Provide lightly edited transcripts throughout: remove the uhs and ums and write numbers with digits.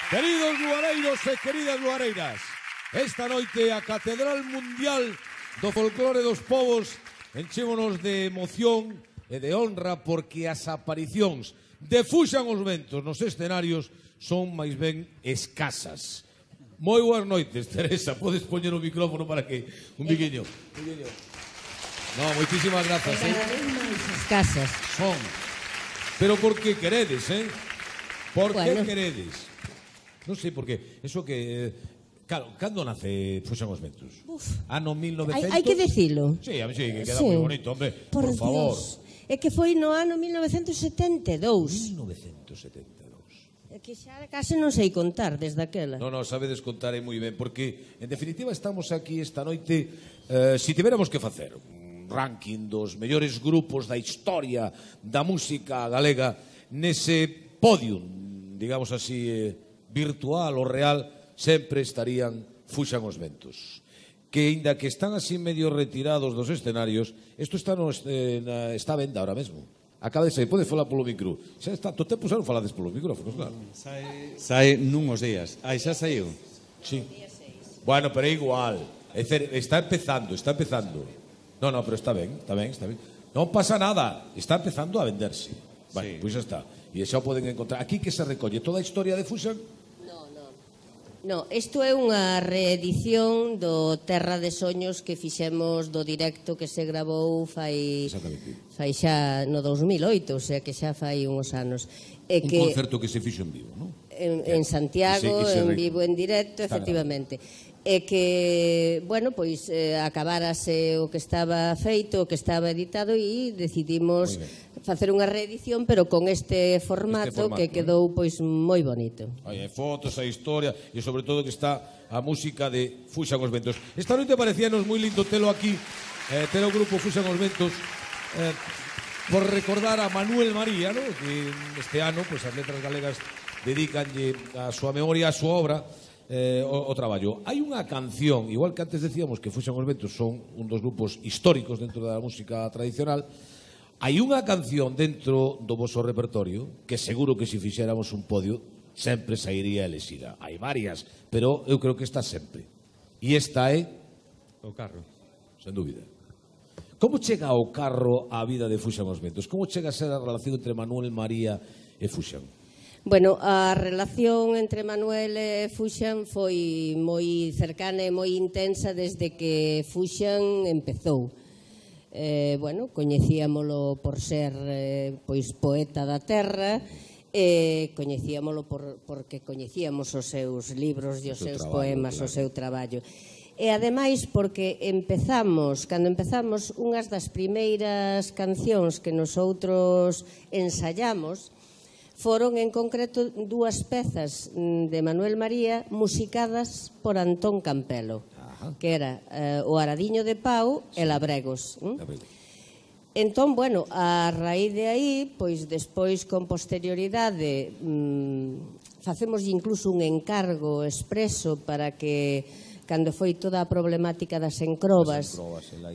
Queridos luareiros e queridas luareiras, esta noite a Catedral Mundial do Folclore dos Povos enchémonos de emoción e de honra porque as aparicións de Fuxan os Ventos nos escenarios son máis ben escasas. Moi boas noites, Teresa, podes poñer o micrófono para que un biquiño. No, moitísimas grazas, Cada vez máis escasas. Son. Pero por que queredes, Por que queredes? Non sei por qué. Eso que... Claro, cando nace Fuxan os Ventos? Ano 1900... Hai que dicilo. Sí, a mí sí, que queda moi bonito, hombre. Por favor. É que foi no ano 1972. 1972. É que xa case non sei contar desde aquela. Non, sabedes contar moi ben, porque, en definitiva, estamos aquí esta noite, si tiveramos que facer un ranking dos mellores grupos da historia da música galega, nese podium, digamos así, virtual ou real, sempre estarían Fuxan os Ventos. Que, inda que están así medio retirados dos escenarios, isto está a venda ahora mesmo. Acaba de sair, podes falar polo micro. Xa está, todo tempo xa non falades polo micrófonos, claro. Sai nunhos días. Aí xa saiu? Sí. Bueno, pero é igual. Está empezando. No, pero está ben. Non pasa nada, está empezando a venderse. Bueno, pois xa está. E xa o poden encontrar. Aquí que se recolle toda a historia de Fuxan? No, isto é unha reedición do Terra de Soños que fixemos do directo que se gravou fai xa no 2008, o sea que xa fai uns anos. Un concerto que se fixo en vivo, non? En Santiago, en vivo, en directo, efectivamente. E que, bueno, pois acabárase o que estaba feito, o que estaba editado e decidimos facer unha reedición, pero con este formato que quedou pois moi bonito. Hai fotos, hai historia e sobre todo que está a música de Fuxan os Ventos. Esta noite parecíanos moi lindo telo aquí, ter o grupo Fuxan os Ventos, por recordar a Manuel María, que este ano as letras galegas dedicanlle a súa memoria, a súa obra, o traballo. Hai unha canción, igual que antes decíamos que Fuxan os Ventos son un dos grupos históricos dentro da música tradicional, hai unha canción dentro do vosso repertorio que seguro que se fixéramos un podio sempre sairía elexida. Hai varias, pero eu creo que está sempre. E esta é... O carro. Sen dúbida. Como chega o carro á vida de Fuxan os Ventos? Como chega a ser a relación entre Manuel María e Fuxan? Bueno, a relación entre Manuel e Fuxan foi moi cercana e moi intensa desde que Fuxan empezou. Bueno, coñecíamolo por ser pois poeta da terra, coñecíamolo porque coñecíamos os seus libros e os seus poemas, o seu traballo. E ademais porque cando empezamos, unhas das primeiras cancións que nosoutros ensayamos foron en concreto dúas pezas de Manuel María musicadas por Antón Campelo, que era o Aradiño de Pau e Labregos. Entón, bueno, a raíz de aí, pois despois con posterioridade facemos incluso un encargo expreso para que cando foi toda a problemática das encrobas,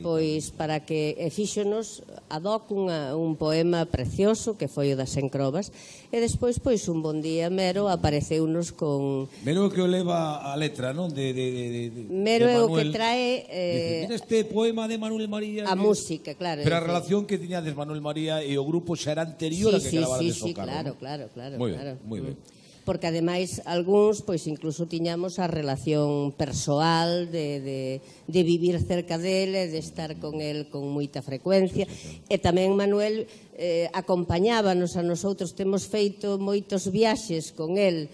pois para que fíxonos ad hoc un poema precioso que foi o das encrobas, e despois, pois, un bon día Mero apareceunos con... Mero que o leva a letra, non? Mero é o que trae... Mira este poema de Manuel María... A música, claro. Pero a relación que tiñades Manuel María e o grupo xa era anterior a que gravarades o carro. Sí, claro. Moi ben. Porque ademais algúns pois incluso tiñamos a relación persoal de vivir cerca dele, de estar con el con moita frecuencia, e tamén Manuel acompañábanos a nosotros, temos feito moitos viaxes con el,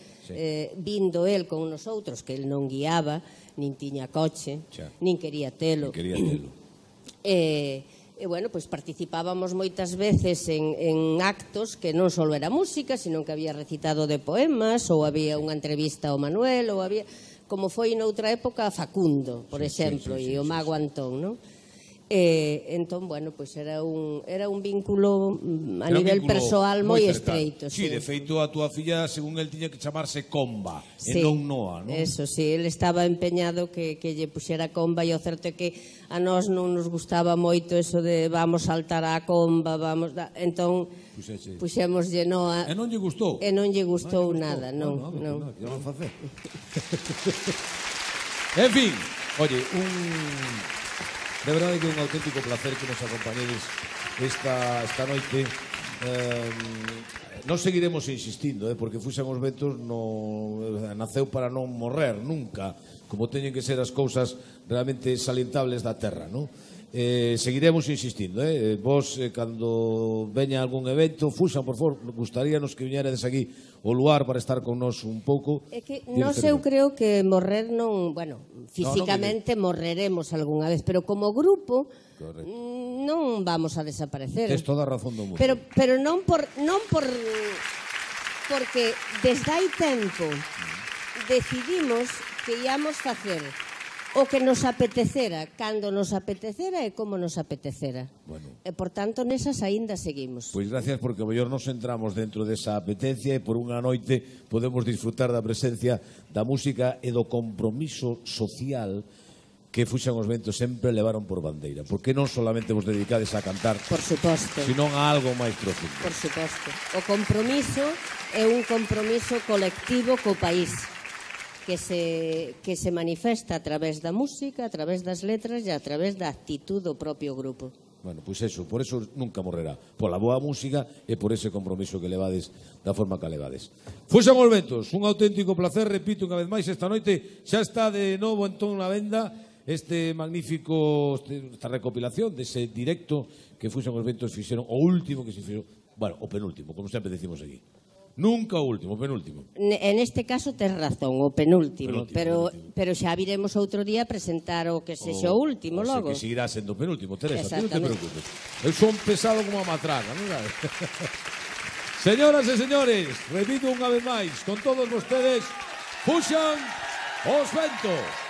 vindo el con nosotros, que el non guiaba, nin tiña coche, nin quería telo. E, bueno, pois participábamos moitas veces en actos que non só era música, sino que había recitado de poemas, ou había unha entrevista ao Manuel, ou había, como foi noutra época, Facundo, por exemplo, e o Mago Antón, non? Entón, bueno, pois era un vínculo a nivel persoal moi estreito. Sí, de feito, a túa filla, según el, tiña que chamarse Comba, e Sí, non Noa, non? eso, sí, ele estaba empeñado que lle puxera Comba, e o certo é que a nós non nos gustaba moito eso de vamos saltar a Comba, entón puxémoslle Noa. E non lle gustou? E non lle gustou nada, non. Que vamos a facer? En fin, oye, de verdade que é un auténtico placer que nos acompañedes esta noite. Nós seguiremos insistindo, porque Fuxan os Ventos naceu para non morrer nunca, como teñen que ser as cousas realmente salientables da terra, non? Seguiremos insistindo, vos, cando veña algún evento, Fuxan, por favor, gustaríanos que viñeredes aquí ao lugar para estar con nós un pouco. É que nós eu creo que morrer non, bueno, físicamente morreremos algunha vez, pero como grupo non vamos a desaparecer. Tes toda a razón do mundo. Pero non porque desde hai tempo decidimos que íamos facer o que nos apetecera, cando nos apetecera e como nos apetecera. E, por tanto, nesas aínda seguimos. Pois gracias, porque o mellor nos entramos dentro desa apetencia e por unha noite podemos disfrutar da presencia da música e do compromiso social que Fuxan os Ventos sempre levaron por bandeira. Porque non solamente vos dedicades a cantar, por suposto, sino a algo máis profundo. Por suposto. O compromiso é un compromiso colectivo co país, que se manifesta a través da música, a través das letras e a través da actitud do propio grupo. Bueno, pois eso, por eso nunca morrerá. Pola boa música e por ese compromiso que levades da forma que levades. Fuxan os Ventos, un auténtico placer, repito unha vez máis, esta noite xa está de novo entón na venda esta recopilación dese directo que Fuxan os Ventos fixeron, o último que se fixeron, bueno, o penúltimo, como sempre decimos aquí. Nunca o último, o penúltimo. En este caso tes razón, o penúltimo, pero xa viremos outro día a presentar o que sexa o último logo. Que seguirá sendo o penúltimo, Teresa, non te preocupes. Eu son pesado como a matraca, non sabes? Señoras e señores, repito unha vez máis, con todos vostedes, Fuxan os Ventos.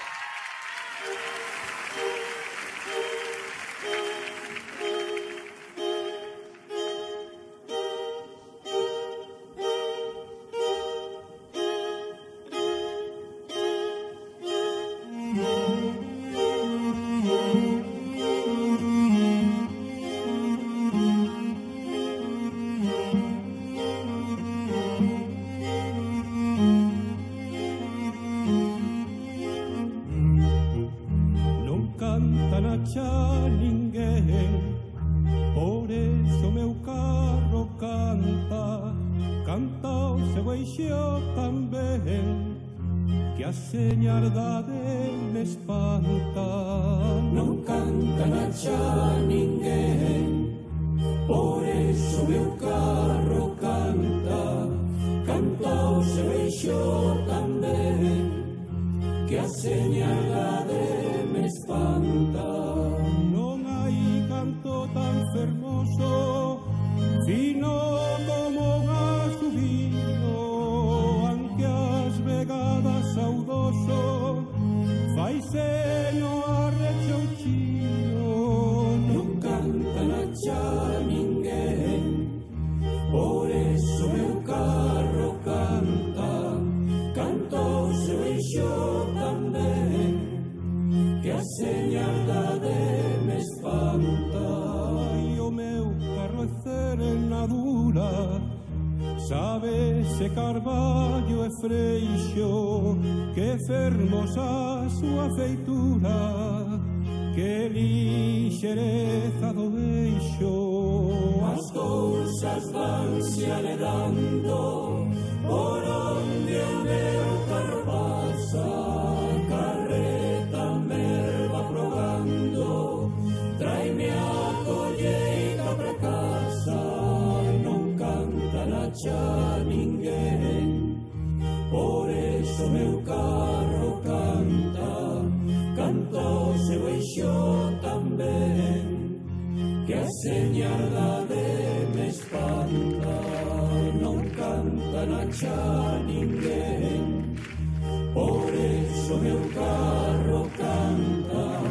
Por eso meu carro canta,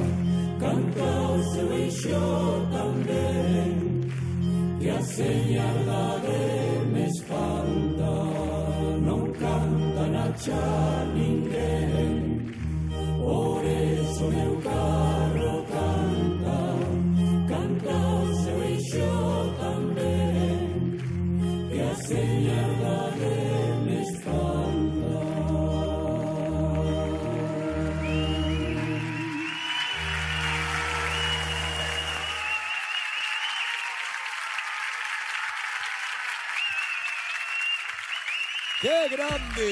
canta o seu eixo señalda de me espanta, non canta na cha ninguén, por eso meu carro canta, canta o seu eixo tamén, que a señalda de me espanta. ¡Qué grande!